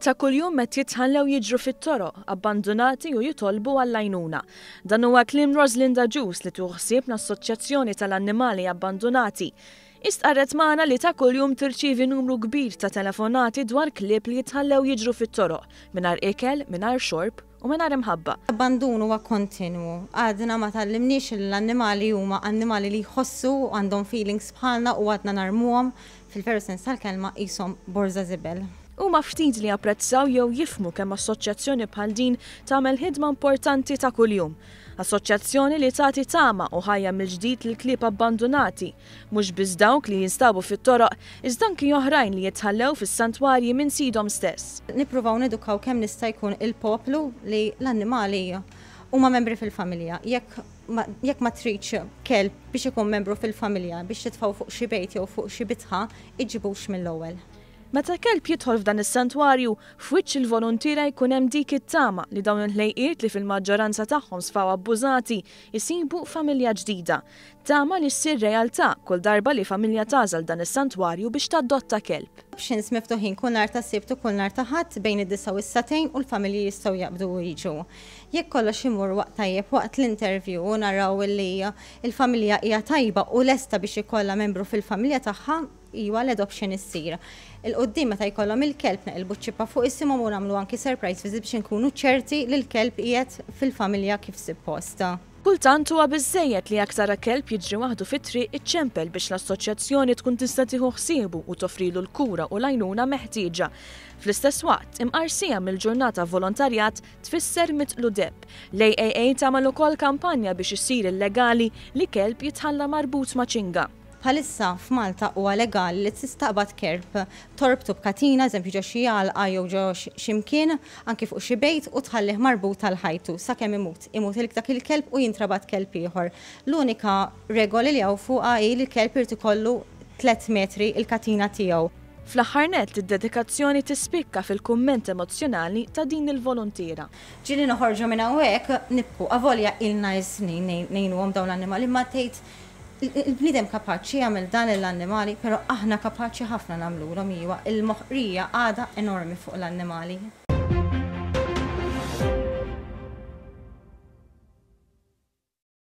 Ta' kuljum qed jitħallew jiġru fit-toroq, abbandunati u jitolbu għall-għajnuna. Dan huwa kliem Roslinda Agius li tieħu ħsieb l-Assoċjazzjoni tal-Annimali Abbandunati. Hi stqarret magħna li ta' kuljum tirċievi numru kbir ta' telefonati dwar klieb li jitħallew jiġru fit-toroq, mingħajr ikel, mingħajr xorb u mingħajr imħabba. L-abbandun huwa kontinwu. Għadna ma tgħallimniex li l-annimali huma annimali li jħossu u għandhom feelings bħalna u għadna narmuhom, fil-veru sens tal-kelma, qishom borża żibel. Huma ftit li japprezzaw jew jifhmu kemm assoċjazzjoni bħal din tagħmel ħidma importanti ta' kuljum. Assoċjazzjoni li tagħti tama u ħajja mill-ġdid lill-klieb abbandunati, mhux biss dawk li jinstabu fit-toroq, iżda anki oħrajn li jitħallew fis-santwarji minn sidhom stess. Nippruvaw nedukaw kemm nista' jkun il-poplu li l-annimali huma membri fil-familja. Jekk ma, jekk ma tridx kelb biex ikun membru fil-familja, biex titfgħu fuq xi bejt jew fuq xi bitħa, iġibux mill-ewwel. Meta kelb jidħol f'dan is-santwarju, f'wiċċ il-voluntiera jkun hemm dik it-tama li dawn il-ħlejqiet li fil-maġġoranza tagħhom sfaw abbużati, isibu familja ġdida. Tama li ssir realtà kull darba li familja tagħżel dan is-santwarju biex tadotta kelb. Options miftuħin kull nhar ta' Sibt u kull nhar ta' Ħadd bejn id-disgħa u s-sagħtejn u l-familji jistgħu jaqbdu u jiġu. Jekk kollox imur waqt tajjeb waqt l-interview u naraw li l-familja hija tajba u lesta biex ikollha membru fil-familja tagħha, Iwa, l-adoption issir. 'Il quddiem meta jkollhom il-kelb neqilbu ċ-ċippa fuq isimhom u nagħmlu anki surprise visit biex inkunu ċerti li l-kelb qiegħed fil-familja kif suppost. Kultant huwa biżżejjed li jekk tara kelb jiġri waħdu fit-triq iċċempel biex l-assoċjazzjoni tkun tista' tieħu ħsiebu u toffrilu l-kura u l-għajnuna meħtieġa. Fl-istess waqt, imqar siegħa mill-ġurnata volontarjat tfisser mitqlu deheb. L-AAA tagħmel ukoll kampanja biex isir illegali li kelb jitħalla marbut ma' ċinga. Bħalissa f'Malta huwa legali li tistaqbad kerb, torbtu b'katina, eżempju ġo xi għalqa jew ġo xi mkien, anki fuq xi bejt u tħallih marbut għal ħajtu sakemm imut. Imut il dak il-kelb u jintrabat kelb ieħor. L-unika regoli li hawn fuqha hi li l-kelb irid ikollu tlett metri il-katina tiegħu. Fl-aħħar nett, id-dedikazzjoni tispikka fil-kumment emozzjonali ta' din il-voluntiera. Ġieli noħorġu minn hawnhekk nibku, avolja ilna s-snin ngħinuhom dawn l-annimali imma tgħid Il-bniedem kapaċi jagħmel dan lill-annimali, però aħna kapaċi ħafna nagħmlulhom iwa, il-moħqrija għadha enormi fuq l-annimali.